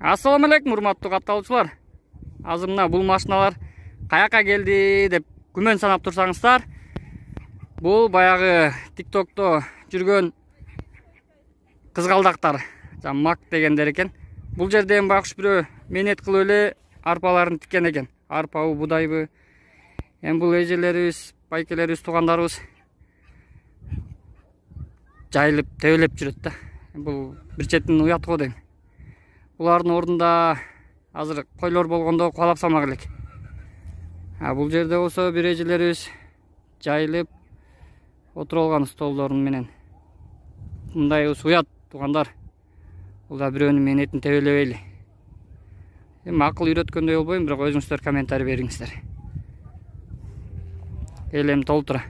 Ассаламу алейкум, урматтуу катталуучулар. Азыр мына бул машиналар каяка келди деп күмөн санап турсаңыздар, бул баягы TikTok'то жүргөн кызгалдактар, мак дегендер экен. Бул жерде эми байкуш бирөө менет кылып эле арпаларын тиккен экен. Арпабы, будайбы. Эми бул эжелерибиз, байкелерибиз, туугандарыбыз жайылып, тебелеп жүрөт да. Бул бир четинен уят го дейм. Булардын ордунда азыр койлор болгондо кубалап салмак элек. Бул жерде болсо бир эжелерибиз жайылып отуруп алган столдорун менен. Мындай уят туугандар. Бул да бирөөнүн менетин тебелебейли. Эми акыл үйрөткөндөй болбойм, бирок өзүңүздөр комментарий бериңиздер. Элем толтура.